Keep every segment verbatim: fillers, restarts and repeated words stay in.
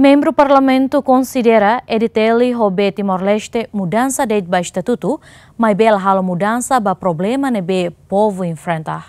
Membru Parlamentu konsidera E D T L ho B Timor-Leste mudansa de'it ba estatutu, maibé la halo mudansa ba problema ne'ebé povu enfrenta.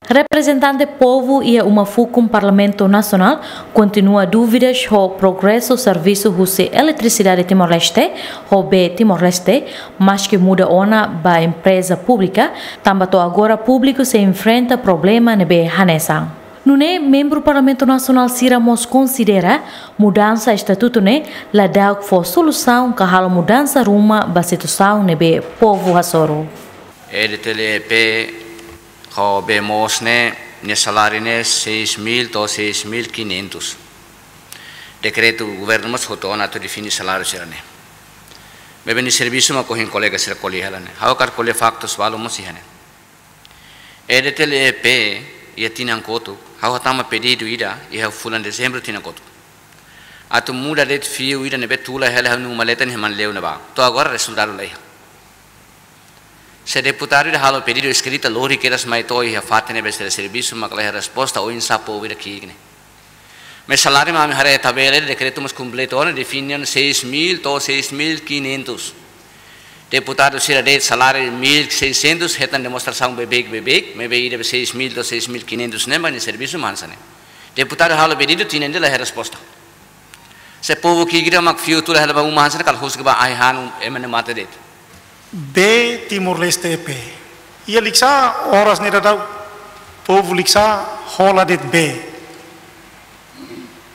Reprezentante povu iha uma fukun Parlamentu Nasionál kontinua dúvidas ho progresu servisu husi Eletrisidade Timor-Leste ho B Timor-Leste, maske muda ona ba empreza públika, tanba to'o agora públiku sei enfrenta problema ne'ebé hanesan. Nune'e membru Parlamentu Nasionál sira mós konsidera mudansa estatutu ne'e la da'uk fó solusaun ka halo mudansa ruma ba situasaun ne'ebé povu hasoru. E D T L E P ho B Mos ne'e, nia saláriu ne'e seis mil to'o seis mil quinhentos. Dekretu governu mós hotu ona atu define saláriu sira-ne'e. Maibé nia servisu mak ohin kolega sira ko'alia hela ne'e. Ha'u hakarak ko'alia faktus balu mós iha ne'e. E D T L E P iha tinan kotuk, ha'u hatama pedidu ida iha fulan Dezembru tinan kotuk. Atu muda de'it fiu ida ne'ebé tula hela ha'u-nia uma-leten iha Manleu ne'ebá. To'o agora rezultadu la iha. Se deputadu ida halo pedidu eskrita lori kedas mai to'o iha fatin ne'ebé sira servisu mak la iha resposta, oinsá povu ida ki'ik ne'e. Maibé saláriu mak ami haree tabela, dekretu mós kompletu ona, define seis mil to'o seis mil quinhentos. Deputadu sira de'it saláriu mil e seiscentos, hetan demonstrasaun beibeik, beibeik, maibé ida be seis mil to'o seis mil quinhentos ne'e mak nia servisu mak hanesan ne'e. Deputadu halo pedidu tinan ida la iha resposta. Se povu ki'ik ida mak fiu tula hela ba uma hanesan ne'e, kala husik ba ai hanu ema ne'e mate de'it. B Timor-Leste E P. Iha Likisá oras ne'e daudaun povu Likisá hola de'it bee.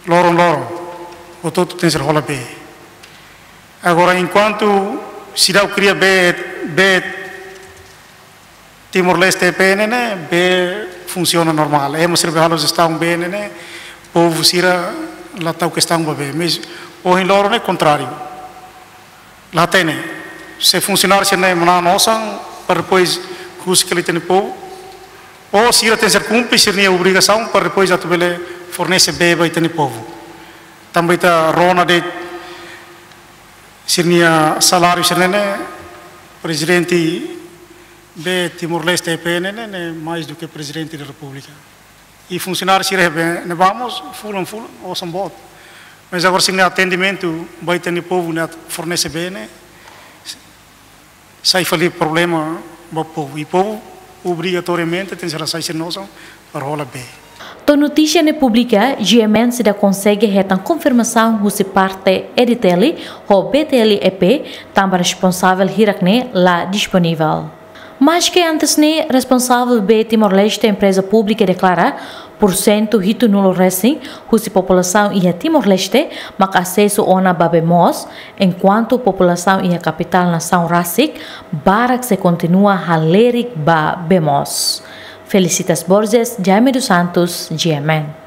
Loron-loron, hotu-hotu tenke ser hola bee. Agora, enkuantu seidauk kria bee, bee Timor-Leste E P ne'e, ne'e bee funsiona normál. Ema sira be halo jestaun bee ne'e, ne'e povu sira la tau kestaun ba bee. Maibé ohin loron ne'e kontráriu. La hatene. Se funsionáriu sira-ne'e manán osan para depois husik hela ita-nia povu. Ou sira tenke ser kumpre sira-nia obrigasaun para depois atu bele fornese bee ba ita-nia povu. Tanba ita rona de'it sira-nia saláriu sira-ne'e, prezidente B Timor-Leste E P ne'e, ne'e, ne'e mais do que Presidente da República. I funsionáriu sira be ne'ebá mós fulan-fulan osan boot. Maibé agora sira-nia atendimentu ba ita-nia povu ne'e atu fornese bee ne'e, sai fali problema ba povu. I povu obrigatoriamente tenke ser hasai sira-nia osan para hola bee. To'o notísia ne'e publika, G M N seidauk konsege hetan konfirmasaun husi parte E D T L ho B T L E P, tanba responsavel hirak ne'e la disponivel. Maske antes ne'e, responsavel B Timor-Leste Empreza Públika deklara, pursentu hitunulu resin husi populasaun iha Timor-Leste mak asesu ona ba bee moos, enkuantu populasaun iha kapitál nasaun rasik barak sei kontinua halerik ba bee moos. Felicitas Borges, Jaime dos Santos, G M N.